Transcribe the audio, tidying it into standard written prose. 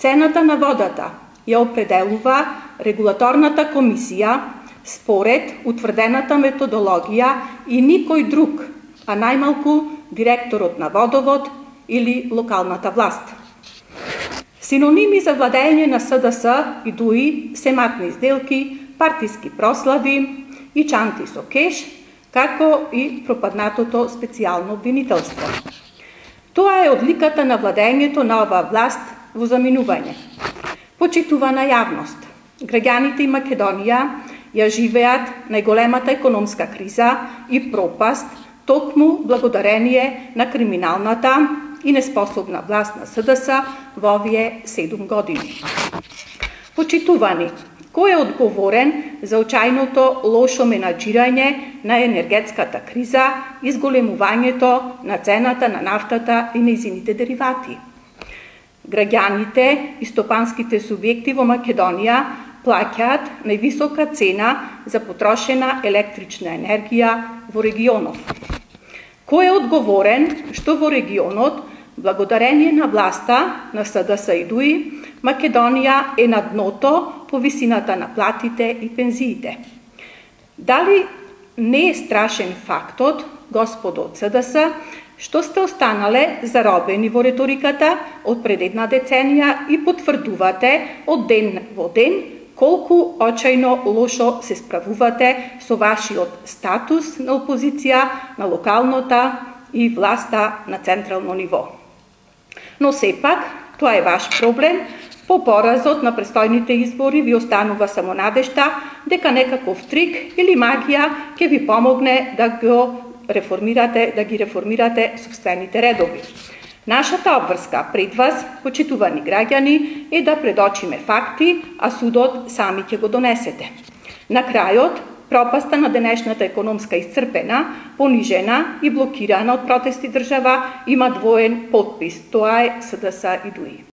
Цената на водата ја определува регулаторната комисија според утврдената методологија и никој друг, а најмалку директорот на водовод или локалната власт. Синоними за владење на СДС и ДУИ се матни сделки, партиски прослави и чанти со кеш, како и пропаднатото специјално обвинителство. Тоа е одликата на владењето на оваа власт во заминување. Почитувана јавност, граѓаните и Македонија ја живеат најголемата економска криза и пропаст токму благодарение на криминалната и неспособна власт на СДС во овие 7 години. Почитувани, кој е одговорен за очајното лошо менаџирање на енергетската криза и зголемувањето на цената на нафтата и нејзините деривати? Граѓаните и стопанските субјекти во Македонија плаќаат највисока цена за потрошена електрична енергија во регионов. Кој е одговорен што во регионот, благодарение на власта на СДС и ДУИ, Македонија е на дното по висината на платите и пензиите? Дали не е страшен фактот, господо од СДС, што сте останале заробени во реториката од пред една деценија и потврдувате од ден во ден колку очајно лошо се справувате со вашиот статус на опозиција на локалната и власта на централно ниво. Но сепак, тоа е ваш проблем. По поразот на престојните избори ви останува само надежта дека некаков трик или магија ќе ви помогне да ги реформирате собствените редови. Нашата обврска пред вас, почитувани граѓани, е да предочиме факти, а судот сами ќе го донесете. На крајот, пропаста на денешната економска исцрпена, понижена и блокирана од протести држава има двоен подпис. Тоа е СДС и ДУИ.